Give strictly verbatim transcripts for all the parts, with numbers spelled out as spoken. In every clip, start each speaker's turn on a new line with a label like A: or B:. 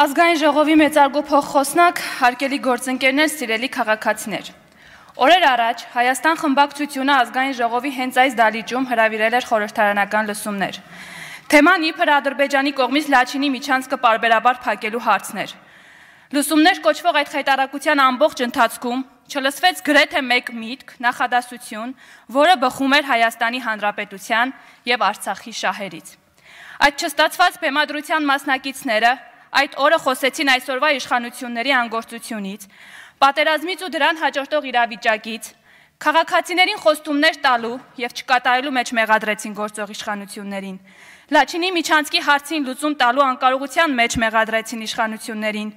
A: Ազգային ժողովի մեծարգո փոխխոսնակ, հարգելի գործընկերներ, սիրելի քաղաքացիներ։ Օրեր առաջ Հայաստան խմբակցությունը ազգային ժողովի հենց այս դահլիճում հրավիրել էր խորհրդարանական լսումներ։ Թեման իբր Ադրբեջանի կողմից Լաչինի միջանցքը պարբերաբար փակելու հարցն էր։ Լսումներ կոչվող այդ խայտարակության ամբողջ ընթացքում չլսվեց գրեթե մեկ միտք, նախադասություն, որը բխում էր Հայաստանի Հանրապետության եւ Արցախի շահերից։ Այդ չստացված բեմադրության մասնակիցները այդ օրը խոսեցին այսօրվա իշխանությունների անգործությունից, պատերազմից ու դրան հաջորդող իրավիճակից, քաղաքացիներին խոստումներ տալու եւ չկատարելու մեջ մեղադրեցին գործող իշխանություններին, Լաչինի միջանցքի հարցին լուծում տալու անկարողության մեջ մեղադրեցին իշխանություններին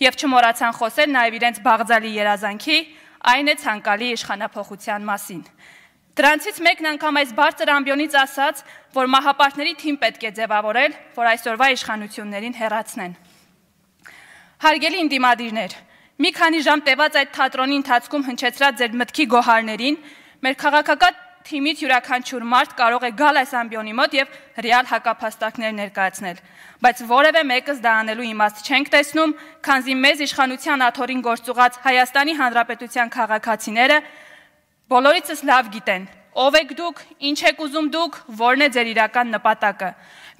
A: եւ չմոռացան խոսել նաեւ իրենց բաղձալի երազանքի, այն է ցանկալի իշխանափոխության մասին։ Դրանցից մեկն անգամ այս բարձր ամբիոնից ասաց, որ մահապարտների թիմ պետք է ձևավորել, որ այսօրվա իշխանություններին հեռացնեն։ Հարգելի ընդդիմադիրներ, մի քանի ժամ տևած այդ թատրոնի ընթացքում հնչեցրած ձեր մտքի գոհարներին, մեր քաղաքական թիմից յուրաքանչյուր մարդ կարող է գալ այս ամբիոնի մոտ եւ ռեալ հակափաստարկներ ներկայացնել, բայց որևէ մեկս դա անելու իմաստ չենք տեսնում, քանզի մեզ իշխանության աթոռին գործուղած Հայաստանի Հանրապետության քաղաքացիները բոլորիցս լավ գիտեն, ով եք դուք, ինչ եք ուզում դուք, որն է ձեր իրական նպատակը։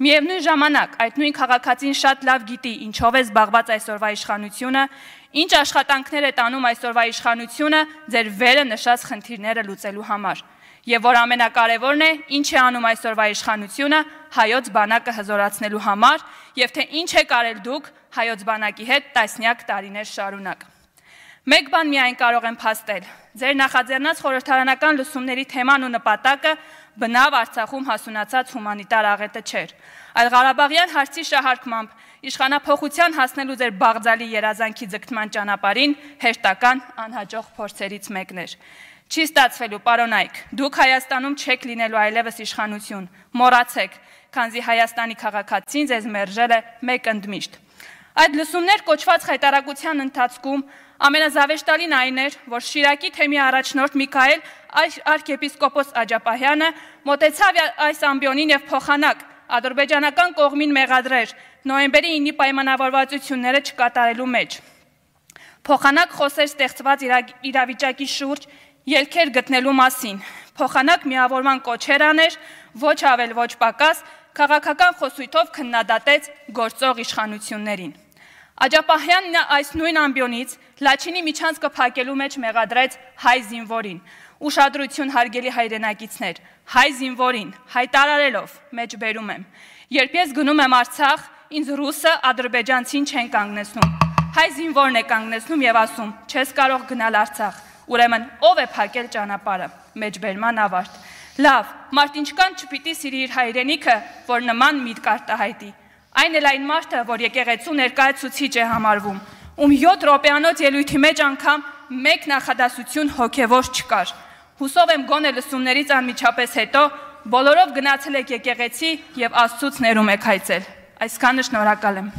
A: Միևնույն ժամանակ այդ նույն քաղաքացին շատ լավ գիտի, ինչով է զբաղված այսօրվա իշխանությունը, ինչ աշխատանքներ է տանում այսօրվա իշխանությունը ձեր վերը նշած խնդիրները լուծելու համար։ Եվ որ ամենակարևորն է, ինչ է անում այսօրվա իշխանությունը հայոց բանակը հզորացնելու համար, եւ թե ինչ եք արել դուք հայոց բանակի հետ տասնյակ տարիներ շարունակ։ Մեկ բան միայն կարող եմ փաստել, ձեր նախաձեռնած խորհրդարանական լսումների թեման ու նպատակը բնավ Արցախում հասունացած հումանիտար աղետը չէր, այլ Ղարաբաղյան հարցի շահարկմամբ իշխանափոխության հասնելու ձեր բաղձալի երազանքի ձգտման ճանապարհին հերթական անհաջող փորձերից մեկն էր։ Չի ստացվելու, պարոն Այք, դուք Հայաստանում չեք լինելու այլևս իշխանություն, մոռացեք, քանզի Հայաստանի քաղաքացին ձեզ մերժել է մեկ ընդմիշտ։ Այդ լսումներ կոչված խայտարակության ընթացքում ամենազավեշտալին այն էր, որ Շիրակի թեմի առաջնորդ Միքայել արքեպիսկոպոս Աջապահյանը մոտեցավ այս ամբիոնին եւ փոխանակ ադրբեջանական կողմին մեղադրեր նոյեմբերի ինի պայմանավորվածությունները չկատարելու մեջ։ Փոխանակ խոսեր ստեղծված իրավիճակի շուրջ ելքեր գտնելու մասին, փոխանակ միավորման կոչեր աներ, ոչ ավել ոչ պակաս, քաղաքական խոսույթով քննադատեց գործող իշխանություններին։ Աջապահյանն այս նույն ամբիոնից Լաչինի միջանցքը փակելու մեջ մեղադրեց հայ զինվորին, ուշադրություն հարգելի հայրենակիցներ, հայ զինվորին, հայտարարելով, մեջբերում եմ, երբ ես գնում եմ Արցախ, ինձ ռուսը ադրբեջանցին չեն կանգնեցնում, հայ զինվորն է կանգնեցնում եւ ասում, չես կարող գնալ Արցախ, ուրեմն ով է փակել ճանապարհը, մեջբերման ավարտ։ Լավ, մարդ ինչքան չպիտի սիրի իր հայրենիքը, որ նման միտք արտահայտի։ Այն էլ այն մարդը, որ եկեղեցու ներկայացուցիչ է համարվում, ում յոթ րոպեանոց ելույթի մեջ անգամ մեկ նախադասություն հոգևոր չկար։ Հուսով եմ գոնե լսումներից անմիջապես հետո բոլորով գնացել եք եկեղեցի եւ Աստծուց ներում եք հայցել։ Այսքանը շնորհակալ եմ։